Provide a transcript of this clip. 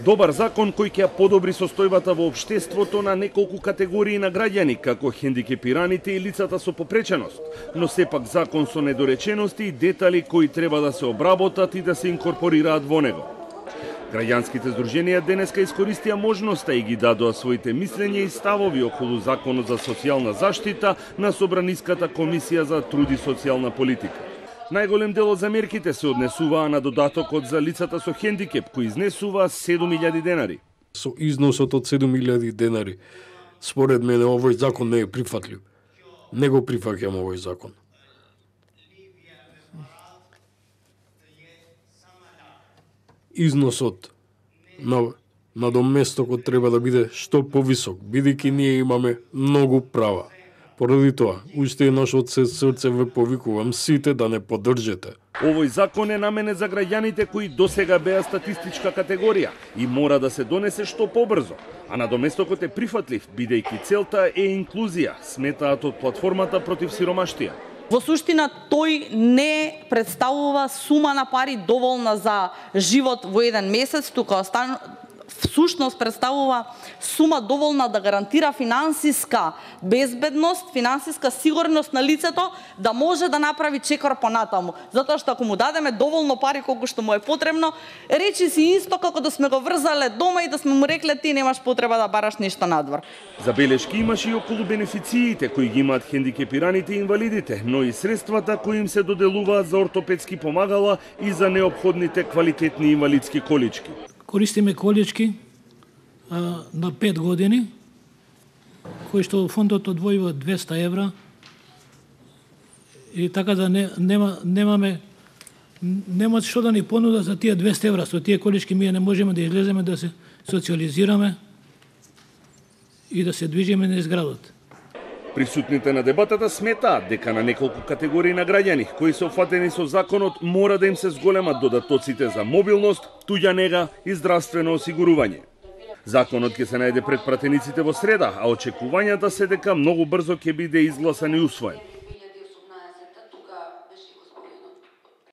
Добар закон кој ќе подобри состојбата во општеството на неколку категории на граѓани, како хендикепираните и лицата со попреченост, но сепак закон со недоречености и детали кои треба да се обработат и да се инкорпорираат во него. Граѓанските здруженија денеска искористија можноста и ги дадоа своите мислења и ставови околу Законот за социјална заштита на Собраниската комисија за труд и социјална политика. Најголем дел од замерките се однесуваа на додатокот за лицата со хендикеп, кој изнесува 7.000 денари. Со износот од 7.000 денари, според мене овој закон не е прифатлив. Не го прифаќам овој закон. Износот на доместокот треба да биде што повисок, бидејќи ние имаме многу права. Поради тоа, уште еднаш од се срце ве повикувам сите да не поддржите. Овој закон е наменет за граѓаните кои досега беа статистичка категорија и мора да се донесе што побрзо. А надоместокот е прифатлив, бидејќи целта е инклузија, сметаат од платформата против сиромаштија. Во суштина, тој не представува сума на пари доволна за живот во еден месец, тука всушност представува сума доволна да гарантира финансиска безбедност, финансиска сигурност на лицето да може да направи чекор понатаму. Затоа што ако му дадеме доволно пари колку што му е потребно, речи си исто како да сме го врзале дома и да сме му рекле ти немаш потреба да бараш ништо надвор. Забелешки имаше и околу бенефициите кои ги имаат хендикепираните и инвалидите, но и средствата кои им се доделуваат за ортопедски помагала и за неопходните квалитетни инвалидски колички. Користиме колички на 5 години, кои што фондот одвојува 200 евра и така да нема што да ни понуда за тие 200 евра. Со тие колички ние не можеме да излеземе да се социализираме и да се движиме низ градот. Присутните на дебатата сметаат дека на неколку категории на граѓани кои се опфатени со законот мора да им се зголемат додатоците за мобилност, туѓа нега и здравствено осигурување. Законот ќе се најде пред пратениците во среда, а очекувањата се дека многу брзо ќе биде изгласан и усвоен.